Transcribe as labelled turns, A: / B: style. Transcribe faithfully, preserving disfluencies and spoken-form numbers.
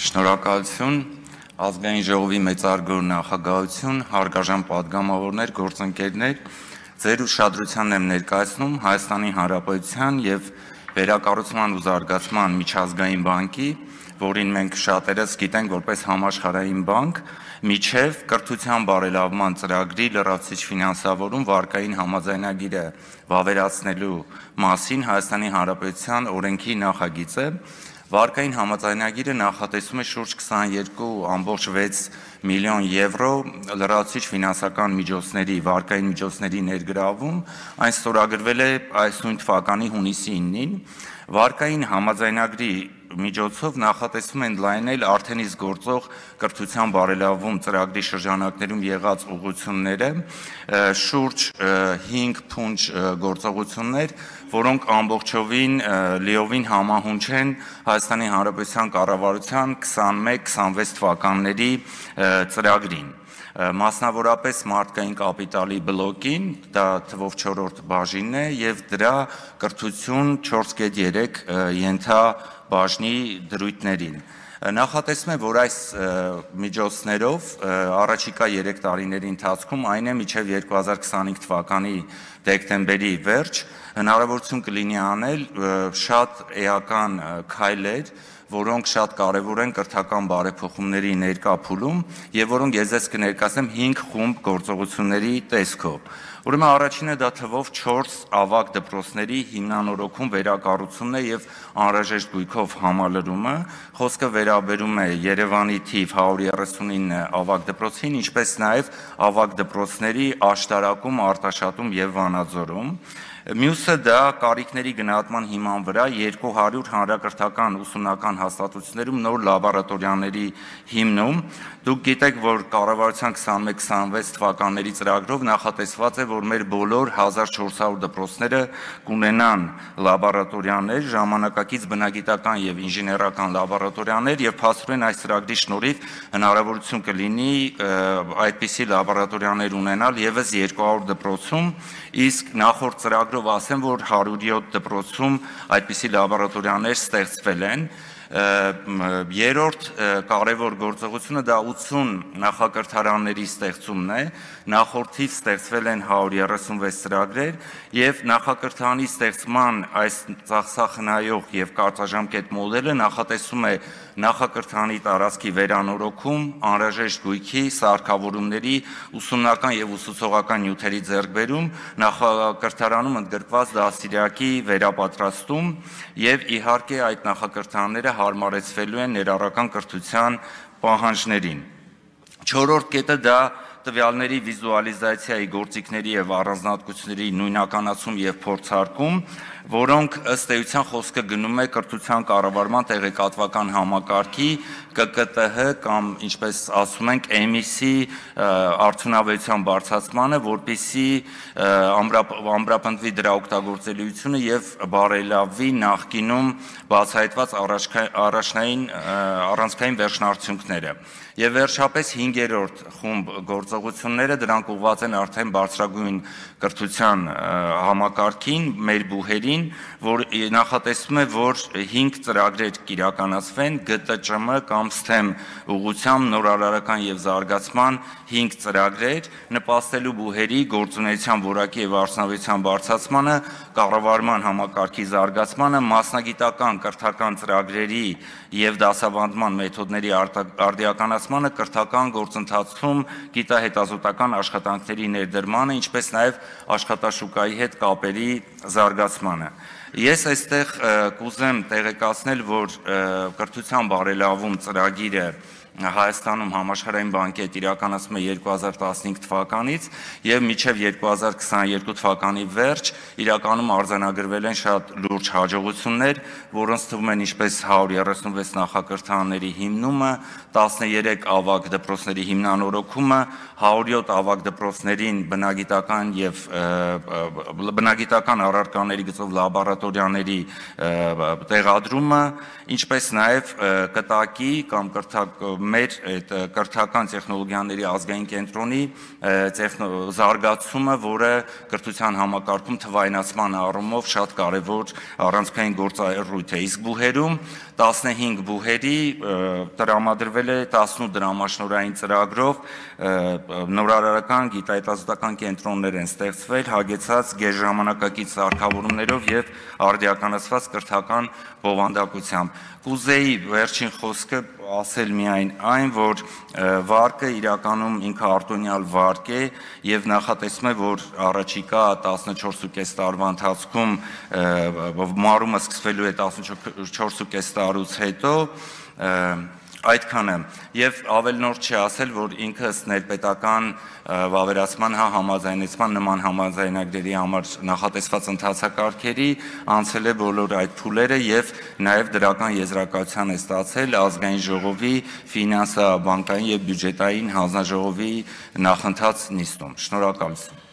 A: Շնորհակալություն, ազգային ժողովի մեծարգո նախագահություն, հարգարժան պատգամավորներ, գործընկերներ, ձեր ուշադրությանն եմ ներկայացնում Հայաստանի Հանրապետության և Վերակառուցման ու զարգացման միջազգային բանկի, որին մենք շատերս գիտենք որպես համաշխարհային բանկ, միջև կրթության բարելավման ծրագրի լրացուցիչ ֆինանսավորում վարկային համաձայնագիրը վավերացնելու մասին Հայաստանի Հանրապետության օրենքի նախագիծը։ Վարկային համաձայնագիրը նախատեսում է շուրջ քսաներկու կόμma վեց միլիոն եվրո լրացուցիչ ֆինանսական միջոցների, վարկային միջոցների ներգրավում, այն ստորագրվել է այս նույն թվականի հունիսի իննին։ Վարկային համաձայնագրի միջոցով նախատեսում են լայնել արդեն իսկ գործող կրթության բարելավում ծրագրի շրջանակներում եղած ուղղությունները, շուրջ հինգ փունջ գործողություններ, որոնք ամբողջովին լիովին համահունչ են Հայաստանի Հանրապետության կառավարության քսանմեկ քսանվեց թվականների ծրագրին։ Մասնավորապես մարդկային կապիտալի բլոկին, դա թվով չորրորդ բաժինն է և դրա կրթություն չորս կետ երեք ենթաբաժնի դրույթներին։ Նախատեսվում է, որ այս միջոցներով առաջիկա երեք տարիների ընթացքում, այն է մինչև երկու հազար քսանհինգ թվականի դեկտեմբերի վերջ, հնարավորություն կլինի անել շատ էական քայլեր, որոնք շատ կարևոր են կրթական բարեփոխումների ներկա փուլում և որոնք ես ձեզ կներկայացնեմ հինգ խումբ գործողությունների տեսքով։ Ուրեմն առաջինը դա թվով չորս ավագ դպրոցների հիմնանորոգում, վերակառուցումն է և անհրաժեշտ գույքով համալրումը։ Խոսքը վերաբերում է Երևանի թիվ հարյուր երեսունինը ավագ դպրոցին, ինչպես նաև ավագ դպրոցների աշտարակում, Արտաշատում և Վանաձորում։ Մյուսը դա կարիքների գնահատման հիման վրա երկու հարյուր հանրակրթական ուսումնական հաստատություններում նոր լաբորատորիաների հիմնում։ Դուք գիտեք, որ կառավարության քսանմեկ քսանվեց թվականների ծրագրով նախատեսված է, որ մեր բոլոր հազար չորս հարյուր դպրոցները կունենան լաբորատորիաներ, ժամանակակից բնագիտական և ինժեներական լաբորատորիաներ, և փաստորեն այս ծրագրի շնորհիվ հնարավորություն կլինի այդպիսի լաբորատորիաներ ունենալ ևս երկու հարյուր դպրոցում, իսկ նախորդ ծրագրով ասեմ, որ հարյուր յոթ դպրոցում այդպիսի լաբորատորիաներ ստեղծվել են։ Երրորդ կարևոր գործողությունը դա ութուն նախակրթարանների ստեղծումն է, նախորդիվ ստեղծվել են հարյուր երեսունվեց ծրագրեր և նախակրթարանի ստեղծման այս ծախսախնայող և կարճաժամկետ մոդելը նախատեսում է նախակրթարանի տարածքի վերանորոգում, անհրաժեշտ գույքի, սարքավորումների, ուսումնական և ուսուցողական նյութերի ձեռքբերում, նախակրթարանում ընդգրկված դաստիարակի վերապատրաստում և իհարկե այդ նախակրթարանները հարմարեցվելու են ներառական կրթության պահանջներին։ Չորրորդ կետը դա տվյալների վիզուալիզացիայի գործիքների և առանձնահատկությունների նույնականացում և փորձարկում, որոնք ըստ էության խոսքը գնում է կրթության կառավարման տեղեկատվական համակարգի Կ Կ Տ Հ կամ ինչպես ասում ենք Էմ Ի Սի արդյունավետության բարձրացմանը, որպեսզի ամրապնդվի դրա օգտագործելիությունը և բարելավվի նախկինում բացահայտված առանցքային վերջնարդյունքները։ Եվ վերջապես հինգերորդ խումբ գործողությունները դրանք ուղղված են արդեն բարձրագույն կրթության համակարգին, մեր բուհերին, որ նախատեսվում է, որ հինգ ծրագրեր կիրականացվեն Գ Տ Ճ Մ կամ սթեմ ուղղությամբ նորարարական և զարգացման հինգ ծրագրեր, նպաստելու բուհերի գործունեության որակի և արդյունավետության բարձրացմանը, կառավարման համակարգի զարգացմանը, մասնագիտական կրթական ծրագրերի և դասավանդման մեթոդների արդիականացմանը, կրթական գործընթացում գիտահետազոտական աշխատանքների ներդրմանը, ինչպես նաև աշխատաշուկայի հետ կապերի զարգացմանը։ Ես այստեղ կուզեմ տեղեկացնել, որ կրթության բարելավում ծրագիրը Հայաստանում համաշխարհային բանկի հետ իրականացվում է երկու հազար տասնհինգ թվականից և մինչև երկու հազար քսաներկու թվականի վերջ իրականում արձանագրվել են շատ լուրջ հաջողություններ, որոնց թվում են ինչպես հարյուր երեսունվեց նախակրթարանների հիմնումը, տասներեք ավագ դպրոցների հիմնանորոգումը, հարյուր յոթ ավագ դպրոցներին բնագիտական և բնագիտական առարկաների գծով լաբորատորիաների տեղադրումը, ինչպես նաև կտակի կամ մեր կրթական տեխնոլոգիաների ազգային կենտրոնի զարգացումը, որը կրթության համակարգում թվայնացման առումով շատ կարևոր առանցքային գործառույթ է։ Իսկ բուհերում տասնհինգ բուհերի տրամադրվել է տասնութ դրամաշնորհային ծրագրով նորարարական գիտահետազոտական կենտրոններ են ստեղծվել հագեցած գերժամանակակից սարքավորումներով եւ արդիականացված կրթական բովանդակությամբ։ Կուզեի վերջին խոսքը ասել միայն այն, որ վարկը իրականում ինքը արտոնյալ վարկ է եւ նախատեսվում է, որ առաջիկա տասնչորս տարվա ընթացքում մարումը սկսվելու է տասնչորս ու կես տարուց հետո այդքանը եւ ավելնորդ չի ասել, որ ինքը ներպետական վավերացման հա համաձայնեցման նման համաձայնագրերի համար նախատեսված ընթացակարգերի անցել է բոլոր այդ փուլերը եւ նաեւ դրական եզրակացության է ստացել ազգային ժողովի ֆինանսա, բանկային եւ բյուջետային հանձնաժողովի նախընթաց նիստում։ Շնորհակալություն։